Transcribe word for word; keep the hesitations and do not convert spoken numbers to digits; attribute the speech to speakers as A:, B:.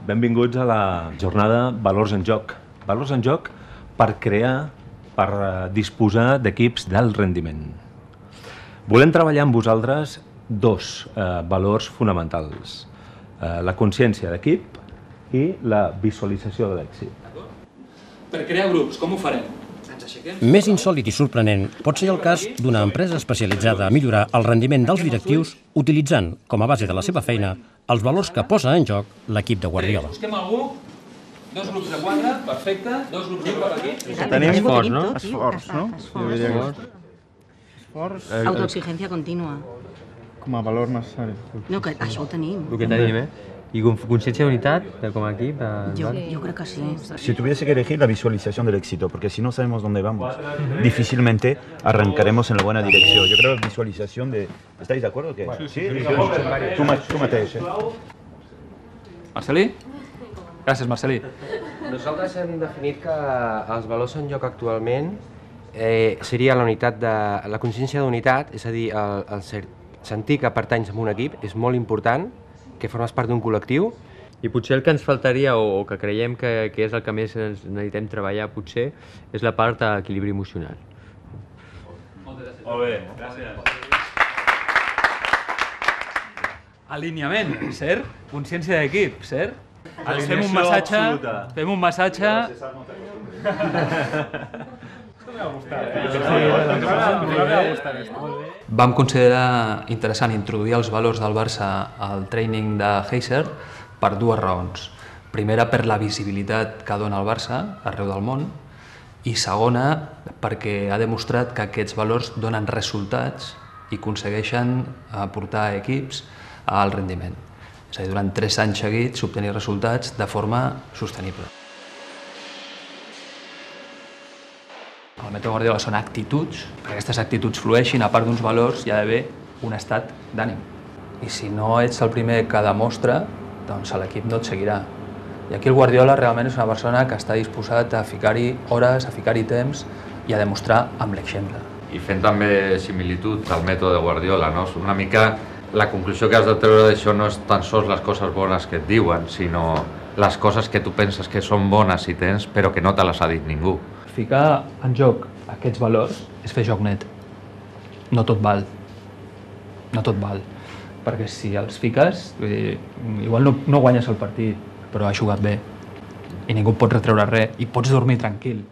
A: Benvinguts a la jornada Valors en Joc. Valors en Joc per crear, per disposar d'equips d'alt rendiment. Volem treballar amb vosaltres dos eh, valors fonamentals. Eh, la consciència d'equip i la visualització de l'èxit.
B: Per crear grups, com ho farem?
C: Més insòlit i sorprenent pot ser el cas d'una empresa especialitzada a millorar el rendiment dels directius utilitzant, com a base de la seva feina, els valors que posa en joc l'equip de Guardiola.
B: Busquem algú, dos grups de quatre, perfecte, dos grups de quatre aquí.
D: Tenim esforç, no?
E: Esforç, no?
D: Esforç.
E: Autoexigència contínua.
D: Com a valor necessari.
E: No, que això ho tenim.
F: El que tenim, eh? I consciència d'unitat, com a equip.
E: Yo, yo creo que sí.
G: Si tuviese que elegir la visualización del éxito, porque si no sabemos dónde vamos, difícilmente arrancaremos en la buena dirección. Yo creo que visualización de... ¿Estáis de acuerdo? ¿Qué? Sí, sí. Tú, tú mateix, eh?
B: Marcelí? Gràcies, Marcelí.
F: Nosaltres hem definit que els valors en joc actualment eh, seria la unitat de, la consciència d'unitat, és a dir, el, el ser, sentir que pertanys a un equip és molt important, que formes part d'un col·lectiu.
H: I potser el que ens faltaria, o, o que creiem que, que és el que més ens necessitem treballar, potser, és la part d'equilibri emocional.
B: Molt bé, gràcies. Alineament, cert? Consciència d'equip, cert? Fem un massatge, fem un massatge... Vam considerar interessant introduir els valors del Barça al training de Heiser per dues raons. Primera, per la visibilitat que dona el Barça arreu del món, i segona, perquè ha demostrat que aquests valors donen resultats i aconsegueixen portar equips al rendiment. És a dir, durant tres anys seguits obtenir resultats de forma sostenible. El mètode Guardiola són actituds, perquè aquestes actituds flueixin, a part d'uns valors hi ha d'haver un estat d'ànim. I si no ets el primer que demostra, doncs l'equip no et seguirà. I aquí el Guardiola realment és una persona que està disposat a ficar-hi hores, a ficar-hi temps i a demostrar amb l'exemple.
I: I fent també similitud al mètode de Guardiola, no? Una mica la conclusió que has de treure d'això no és tan sols les coses bones que et diuen, sinó les coses que tu penses que són bones i tens, però que no te les ha dit ningú.
B: Ficar en joc aquests valors és fer joc net. No tot val. No tot val. Perquè si els fiques, vull dir, igual no, no guanyes el partit, però has jugat bé. I ningú et pot retreure res i pots dormir tranquil.